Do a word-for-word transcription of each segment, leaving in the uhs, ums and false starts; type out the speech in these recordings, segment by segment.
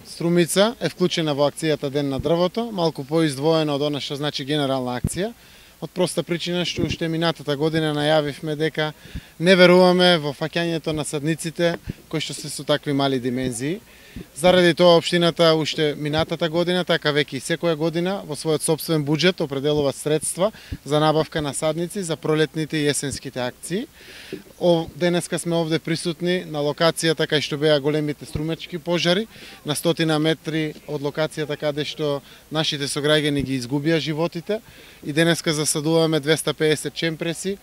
Струмица е вклучена во акцијата Ден на дрвото, малку поиздвоено од она што значи генерална акција, од проста причина што уште минатата година најавивме дека не веруваме во фаќањето на садниците кои што се со такви мали димензии. Заради тоа општината уште минатата година, така веќе и секоја година во својот сопствен буџет определува средства за набавка на садници за пролетните и есенските акции. О, денеска сме овде присутни на локацијата кај што беа големите струмечки пожари, на стотина метри од локацијата каде што нашите сограѓани ги изгубија животите, и денеска засадуваме двеста и песет чемпреси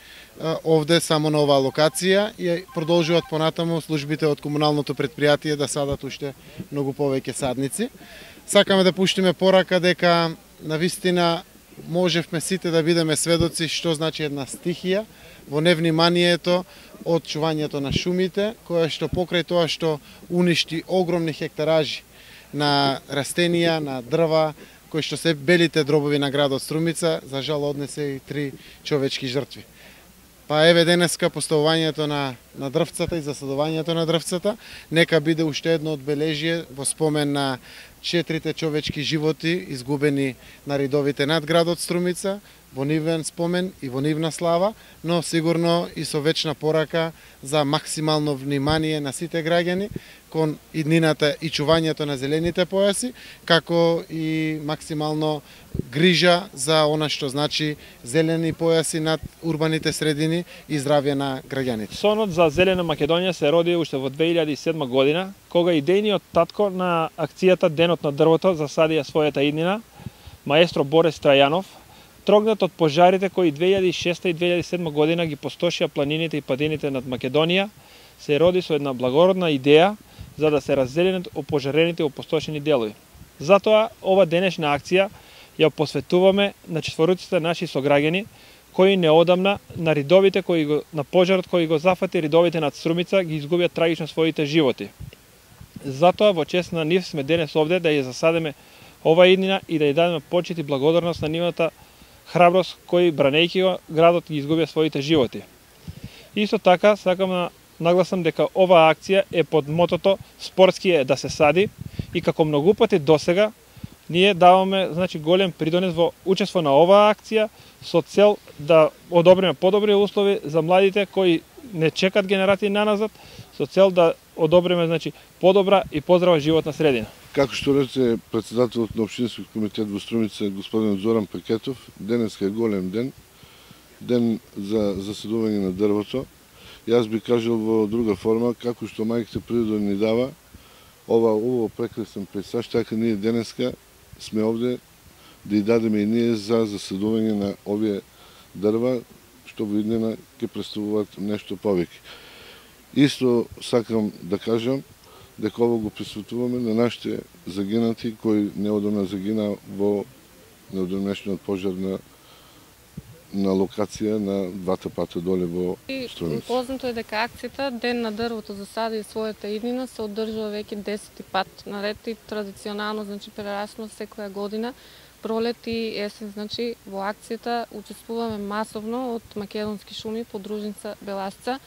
овде само на оваа локација и продолжуваат понатаму службите од комуналното претпријатие да садат уште многу повеќе садници. Сакаме да пуштиме порака дека навистина можевме сите да бидеме сведоци што значи една стихија во невниманието од чувањето на шумите, која што покрај тоа што уништи огромни хектаражи на растенија, на дрва, кои што се белите дробови на градот Струмица, за жал однесе и три човечки жртви. Па еве денеска поставувањето на, на дрвцата и засадувањето на дрвцата, нека биде уште едно одбележие во спомен на четирите човечки животи изгубени на ридовите над градот Струмица, во нивен спомен и во нивна слава, но сигурно и со вечна порака за максимално внимание на сите граѓани кон иднината и чувањето на зелените појаси, како и максимално грижа за она што значи зелени појаси над урбаните средини и здравје на граѓаните. Сонот за Зелена Македонија се роди уште во две илјади и седма година, кога идејниот татко на акцијата Денот на дрвото засадија својата иднина, маестро Борис Трајанов, трогнат од пожарите кои две илјади и шеста и две илјади и седма година ги пустошија планините и падините над Македонија, се роди со една благородна идеја за да се раззеленат опожарените и опустошени делови. Затоа ова денешна акција ја посветуваме на четворуците наши сограѓани кои неодамна на ридовите кои го, на пожарот кој го зафати ридовите над Струмица ги изгубија трагично своите животи. Затоа во чест на нив сме денес овде да ја засадеме ова иднина и да ја дадеме почит и благодарност на нивната храброст кои бранејќи го градот ги изгубија своите животи. Исто така сакам да нагласам дека оваа акција е под мотото спортски е да се сади и како многу пати досега ние даваме значи голем придонес во учество на оваа акција со цел да одобриме подобри услови за младите кои не чекат генерации наназад, со цел да одобриме значи подобра и поздрава животна средина. Како што рече председателот на општинскиот комитет во Струмица господин Зоран Пекетов, денеска е голем ден, ден за засадување на дрвото. Јас би кажал во друга форма, како што мајката природа ни дава ова ово прекрасен пейзаж, така ние денеска сме овде да ја дадеме и ние за засадување на овие дрва, што во иднина ќе представуваат нешто повеќе. Исто сакам да кажам дека ово го присветуваме на нашите загинати кои неодамна загина во неодамнешниот пожар на на локација на двата пата доле во Струмица. Познато е дека акцијата Ден на дрвото засади својата иднина се одржува веќе десети пат наред и традиционално, значи прерасно секоја година, пролет и есен, значи во акцијата учествуваме масовно од Македонски шуми, подружница Беласца.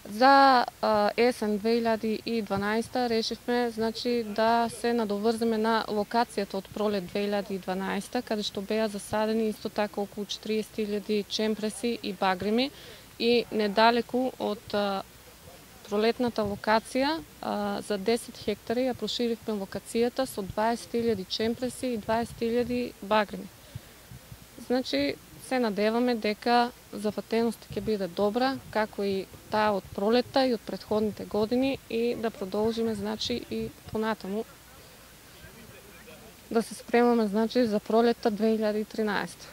За а, есен две илјади и дванаесета решивме значи да се надоврземе на локацијата од пролет две илјади и дванаесета, каде што беа засадени исто така околу четириесет илјади чемпреси и багрими, и недалеку од а, пролетната локација а, за десет хектари ја проширивме локацијата со дваесет илјади чемпреси и дваесет илјади багрими. Значи се надеваме дека зафатеноста ќе биде добра, како и таа од пролетта и од претходните години, и да продолжиме значи и понатаму да се спремаме значи за пролетта две илјади и тринаесета.